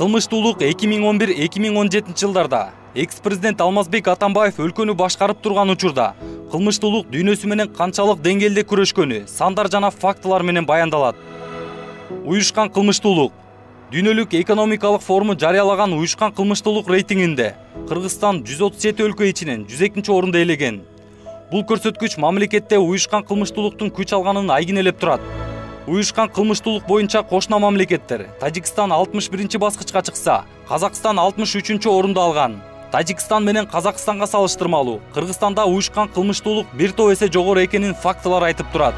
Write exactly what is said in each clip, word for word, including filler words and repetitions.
Кылмыштуулук эки миң он бир эки миң он жетинчи жылдарда экс-президент Алмазбек Атамбаев өлкөнү башкарып турган учурда кылмыштуулук дүйнөсү менен канчалык деңгээлде күрөшкөнү сандар жана фактылар менен баяндалат. Уюшкан кылмыштуулук. Дүйнөлүк экономикалык форуму жарыялаган уюшкан кылмыштуулук рейтингинде Кыргызстан жүз отуз жети өлкө ичинен жүз экинчи орунду ээлеген. Бул көрсөткүч мамлекетте уюшкан кылмыштуулуктун күч алганын айгинелеп турат. Уюшкан кылмыштуулук боюнча кошуна мамлекеттер Тажикстан алтымыш биринчи баскычка чыкса, Казакстан алтымыш үчүнчү орунду алган. Тажикстан менен Казакстанга салыштырмалуу Кыргызстанда уюшкан кылмыштуулук бир топ эсе жогору экенин фактылар айтып турат.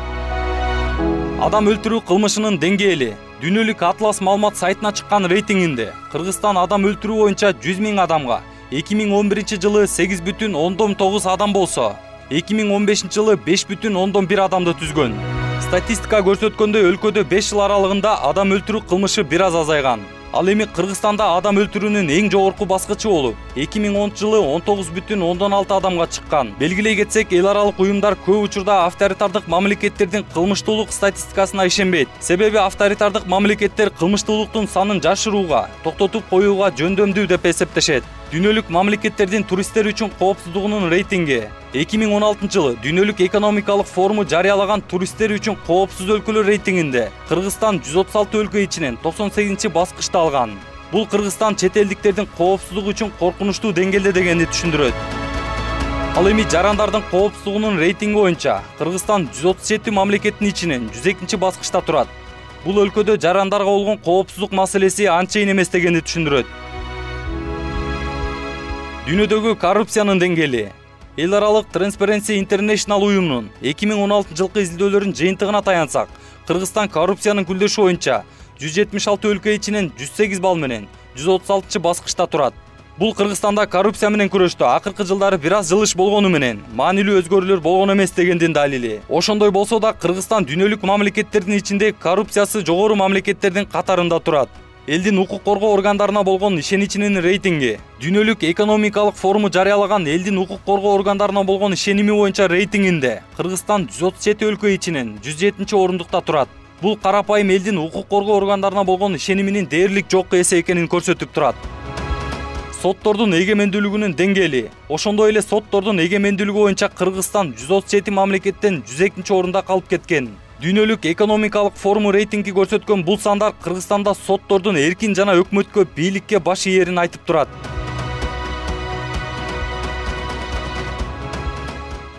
Адам өлтүрүү кылмышынын деңгээли. Дүйнөлүк Атлас маалымат сайтына чыккан рейтингинде Кыргызстан адам өлтүрүү боюнча жүз миң адамга эки миң он биринчи жылы сегиз бүтүн ондон тогуз адам болсо, эки миң он бешинчи жылы беш бүтүн ондон бир адамды түзгөн. Статистика көрсөткөндөй өлкөдө беш жыл аралыгында адам өлтүрүү кылмышы бир аз азайган. Ал эми Кыргызстанда адам өлтүрүүнүн эң жогорку баскычы болуп, эки миң онунчу жылы он тогуз бүтүн ондон алты адамга чыккан. Белгилей кетсек, эл аралык уюмдар көп учурда авторитардык мамлекеттердин кылмыштуулук статистикасына ишенбейт. Себеби авторитардык мамлекеттер кылмыштуулуктун санын жашырууга, токтотуп коюуга жөндөмдүү деп эсептешет. Дүйнөлүк мамлекеттердин туристтер үчүн коопсуздугунун рейтинги эки миң он алтынчы жылы Дүйнөлүк экономикалык форуму жарыялаган туристтер үчүн коопсуз өлкөлөр рейтингинде Кыргызстан жүз отуз алты өлкө ичинен токсон сегизинчи баскычты алган. Бул Кыргызстан чет элдиктердин коопсуздугу үчүн коркунучтуу деңгээлде дегенди түшүндүрөт. Ал эми жарандардын коопсуздугунун рейтинги боюнча Кыргызстан жүз отуз жети мамлекеттин ичинен жүз экинчи баскычта турат. Бул өлкөдө жарандарга болгон коопсуздук маселеси анчейин эмес дегенди түшүндүрөт. Дүйнөдөгү коррупциянын деңгээли. Эл аралык Transparency International уюмунун эки миң он алтынчы жылкы изилдөөлөрүнүн жыйынтыгына таянсак, Кыргызстан коррупциянын күлдөшү боюнча жүз жетимиш алты өлкө ичинен жүз сегиз балл менен жүз отуз алтынчы баскычта турат. Бул Кыргызстанда коррупция менен күрөштө акыркы жылдары бир аз жылыш болгону менен маанилүү өзгөрүүлөр болгон эмес дегендин далили. Ошондой болсо да Кыргызстан дүйнөлүк мамлекеттердин ичинде коррупциясы жогору мамлекеттердин катарында турат. Элдин укук коргоо органдарына болгон ишеничинин рейтинги. Дүйнөлүк экономикалык форуму жарыялаган элдин укук коргоо органдарына болгон ишеними боюнча рейтингинде Кыргызстан жүз отуз жети өлкө ичинен жүз жетинчи орундукта турат. Бул карапайым элдин укук коргоо органдарына болгон ишениминин дээрлик жок эсе экенин көрсөтүп турат. Соттордун эгемендүүлүгүнүн деңгээли. Ошондой эле соттордун эгемендүүлүгү боюнча Кыргызстан жүз отуз жети мамлекеттен жүз экинчи орунда калып кеткен. Дүйнөлүк экономикалык форуму рейтинги көрсөткөн бул сандар Кыргызстанда соттордун эркин жана өкмөткө бийликке баш ийерин айтып турат.